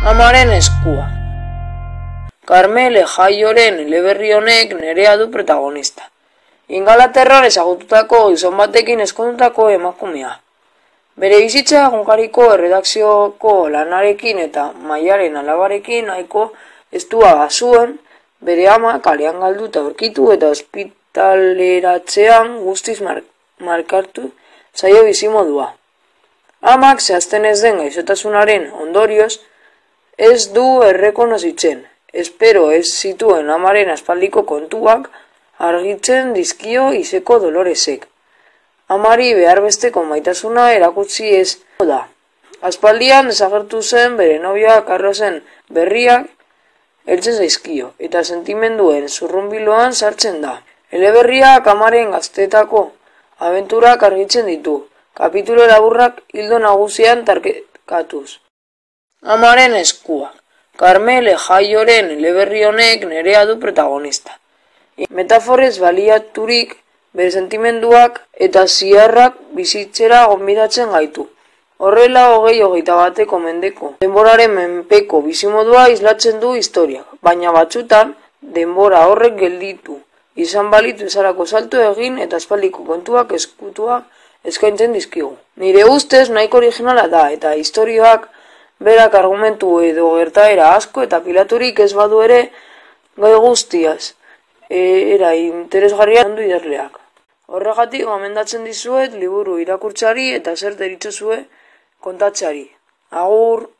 Amaren eskua. Karmele Jaioren eleberri honek Nerea du protagonista. Ingalaterran ezagututako gizon batekin ezkondutako emakumea. Bere bizitza egunkariko erredakzioko lanarekin eta Maiaren alabarekin nahiko estua zuen, bere ama kalean galduta aurkitu eta ospitaleratzean guztiz markartu zaio bizimodua. Amak zehazten ez den gaixotasunaren ondorioz ez du errekonozitzen. Espero ez zituen amaren aspaldiko kontuak argitzen dizkio izeko Doloresek. Amari behar besteko maitasuna erakutsi ez da. Aspaldian desagertu zen bere nobioa Carlosen berriak heltzen zaizkio, eta sentimenduen zurrunbiloan sartzen da. Eleberriak amaren gaztetako abenturak argitzen ditu, kapitulo laburrak hildo nagusian tarkatuz. Amaren eskua. Karmele Jaioren eleberri honek Nerea du protagonista. Metaforez baliaturik bere sentimenduak eta ziarrak bizitzera gonbidatzen gaitu. Horrela 20-21 mendeko denboraren menpeko bizimodua islatzen du historiak, baina batzutan denbora horrek gelditu izan balitu ezarako salto egin eta aspaldiko kontuak eskutua eskaintzen dizkigu. Nire ustez nahiko originala da eta historioak berak argumentu edo gertaera asko eta pilaturik ez badu ere gai guztiaz era interesgarria handu idazleak. Horregatik gomendatzen dizuet liburu irakurtzari eta zer deritzozue kontatzeari. Agur!